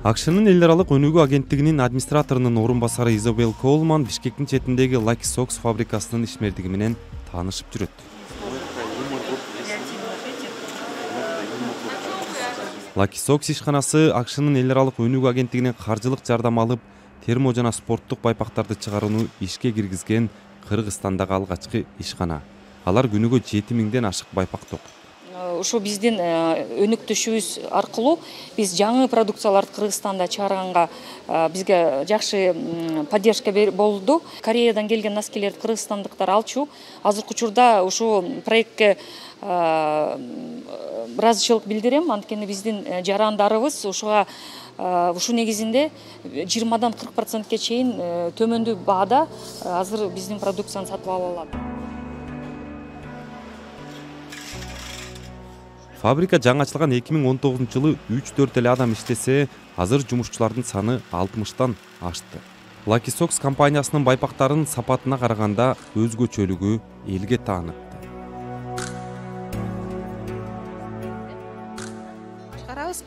АКШнын эл аралык өнүгүү агенттигинин администраторунун орун басары Изабелл Коулман Бишкектин четиндеги Lucky Socks фабрикасынын ишмердиги менен таанышып жүрөт. Lucky Socks ишканасы АКШнын эл аралык өнүгүү агенттигинен каржылык жардам алып, термо жана спорттук байпактарды чыгарууну ишке киргизген Кыргызстандагы алгачкы ишкана. Алар күнүгө 7000ден ашык байпак токуйт. Ошо биздин өнүктүшүбүз аркылуу биз жаңы продукцияларды Кыргызстанда чыгарганга бизге жакшы поддержка болду. Кореядан келген носкилерди кыргызстандыктар алчу. Азыркы учурда ушул проектке ыраазычылык билдирем, анткени биздин жарандарыбыз ушуга ушул негизинде 20-дан 40%ке чейин төмөндүү баада азыр биздин продукцияны сатып ала алат. Фабрика жаңы ачылган 2019-жылы 3-4 эле адам иштесе, азыр жумушчулардын саны 60тан ашты. Lucky Socks компаниясынын байпактарынын сапатына караганда өзгөчөлүгү элге таанып.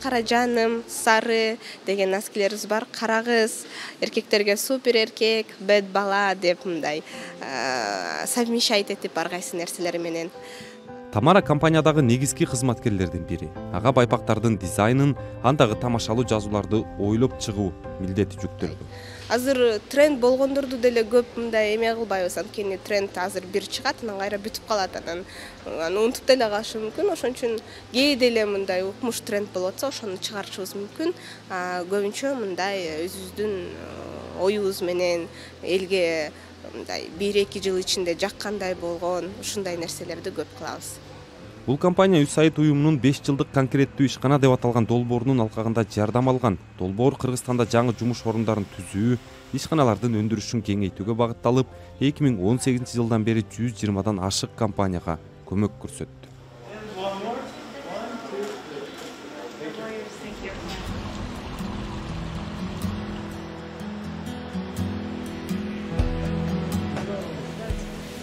Кара жаным, сары деген носкилерибиз бар. Карагыз, эркектерге супер эркек, бед бала деп мындай совмещать этип ар кайсы нерселер менен. Тамара компаниядагы негизги кызматкерлердин бири. Ага байпактардын дизайнын, андагы тамашалуу жазууларды ойлоп чыгуу милдети жүктөлгөн. Азыр тренд болгондорду деле көп мындай эме кылбайбыз, анткени тренд азыр бир чыгат, анан кайра бүтүп калат, анан аны унутуп деле калышы мүмкүн. Ошон үчүн кээде эле мындай укмуш тренд болуп атса, ошону чыгарышыбыз мүмкүн. Көбүнчө мындай өзүбүздүн оюбуз менен элге мындай 1-2 жыл ичинде жаккандай болгон ушундай нерселерди көп кылабыз. Бул компания USAID уюмунун 5 жылдык конкреттүү ишкана деп аталган долбоорунун алкагында жардам алган. Долбоор Кыргызстанда жаңы жумуш орундарын түзүү, ишканалардын өндүрүшүн кеңейтүүгө багытталып, 2018-жылдан бери 120дан ашык компанияга көмөк көрсөттү.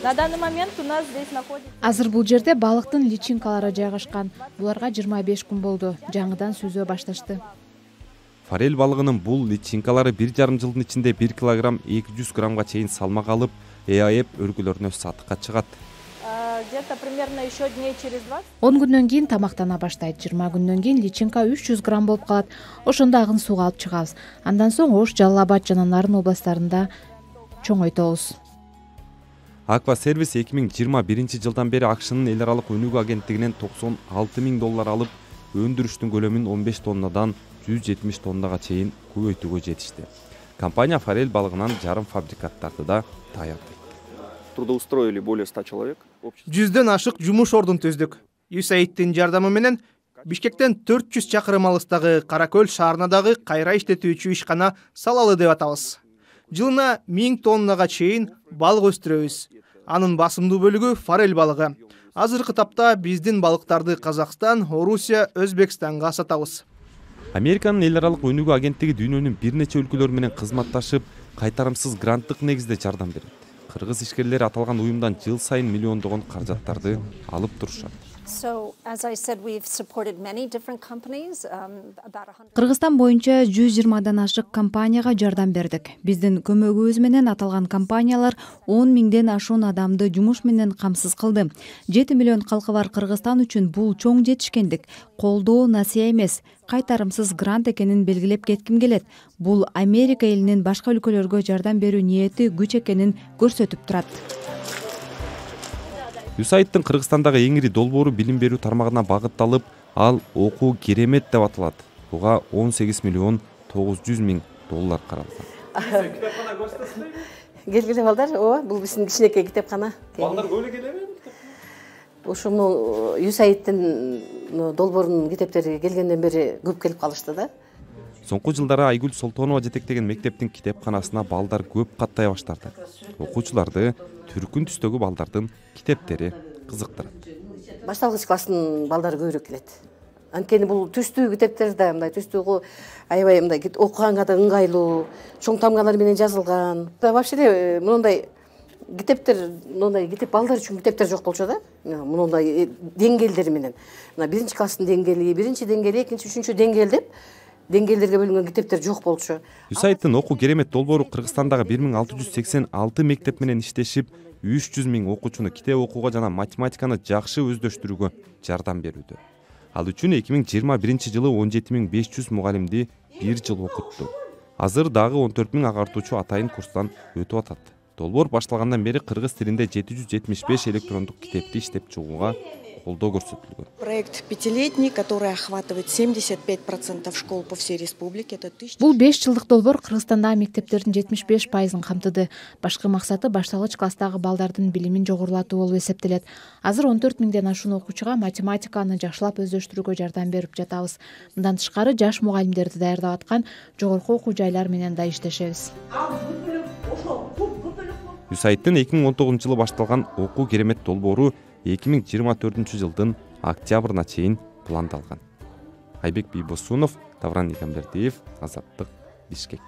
На данный момент у нас здесь находится... Азыр бул жерде балыктын личинкалары жайгашкан. Буларга 25 күн болду. Жаңыдан сүзө башташты. Форель балыгынын бул личинкалары 1,5 жылдын ичинде 1 килограмм 200 граммга чейин салмак алып, ЭАЭП өргүлөрүнө сатыкка чыгат. Где-то примерно еще дней через 20. 10 күндөн кийин тамактана баштайт. 20 күндөн кийин личинка 300 грамм болуп калат. Ошондо агын сууга алып чыгабыз. Андан соң Ош, Жалал Абад жана Нарын областарында чоңойтобуз. Аква сервис 2021-жылдан бери АКШнын эл аралык өнүгүү агенттигинен $96,000 алып, өндүрүштүн көлөмүн 15 тоннадан 170 тоннага чейин көбөйтүүгө жетишти. Компания форель балыгынан жарым фабрикаттарды да даярдайт. Трудоустроили более 100 человек. 100дөн ашык жумуш ордун түздүк. USAID'дин жардамы менен Бишкектен 400 чакырым алыстагы Каракөл шаарына дагы кайра иштетүүчү ишкана салалы деп атабыз. Жылына 1000 тоннага чейин балык өстүрөбүз. Анын басымдуу бөлүгү форель балыгы. Азыркы тапта биздин балыктарды Казакстан, Орусия, Өзбекстанга сатабыз. Американын эл аралык өнүгүү агенттиги дүйнөнүн бир нече өлкөлөрү менен кызматташып, кайтарымсыз гранттык негизде жардам берет. Кыргыз ишкерлери аталган уюмдан жыл сайын миллиондогон каражаттарды алып турушат. Кыргызстан боюнча 120дан ашык компанияга жардам бердик. Биздин көмөгүбүз менен аталган компаниялар 10 000ден ашуун адамды жумуш менен камсыз кылды. 7 миллион калкы бар Кыргызстан үчүн бул чоң жетишкендик. Колдоо насыя эмес, кайтарымсыз грант экенин белгилеп кетким келет. Бул Америка элинин башка өлкөлөргө жардам берүү ниети күч экенин көрсөтүп турат. USAID'дин Кыргызстандагы эң ири долбоору билим берүү тармагына багытталып, ал окуу керемет деп аталат. Буга $18,900,000 каралган. Келгиле балдар, ооба, бул биздин кичинекей китепкана. Балдар көп эле келеби? Ушуну USAID'дин долбоорунун китептери келгенден бери көп келип калышты да. Соңку жылдары Айгүл Солтонова жетектеген мектептин китепканасына балдар көп каттай баштады. Окуучуларды түркүн түстөгү балдардын китептери кызыктырат. Башталгыч класстын балдары көбүрөөк келет. Анткени бул түстүү китептер да мындай түстүү аябай мындай окуганга да ыңгайлуу, чоң тамгалар менен жазылган. Вообще эле мындай китептер, мындай китеп балдар үчүн китептер жок болчу да. Мындай деңгээлдери менен. Мына 1-класстын деңгээли, 1-деңгээл, 2-3-деңгээл деп деңгээлдерге бөлүнгөн китептер жок болчу. USAIDтын окуу керемет долбоору Кыргызстандагы 1686 мектеп менен иштешип, 300 000 окуучуну китеп окууга жана математиканы жакшы өздөштүрүүгө жардам берүүдө. Ал үчүн 2021 жылы 17 500 мугалимди 1 жыл окутту. Азыр дагы 14 000 агартуучу атайын курстан өтүп атат. Долбоор башталгандан бери кыргыз тилинде 775 электрондук китепти иштеп чыгууга колдоо көрсөтүлгөн. Проект пятилетний, который охватывает 75% школ по всей республике. Бул 5 жылдык долбоор Кыргызстандагы мектептердин 75%-ын камтыды. Башкы максаты башталгыч класстагы балдардын билимин жогорулатуу болуп эсептелет. Азыр 14 000ден ашуун окуучуга математиканы жакшылап өздөштүрүүгө жардам берип жатабыз. Мындан тышкары жаш мугалимдерди даярдап аткан жогорку окуу жайлар менен да иштешебиз. USAIDтын 2019 жылы башталган окуу керемет долбоору 2024 жылдын октябрына чейин пландалган. Айбек Бийбосунов, Тавран Игамбердиев, Азаттык, Бишкек.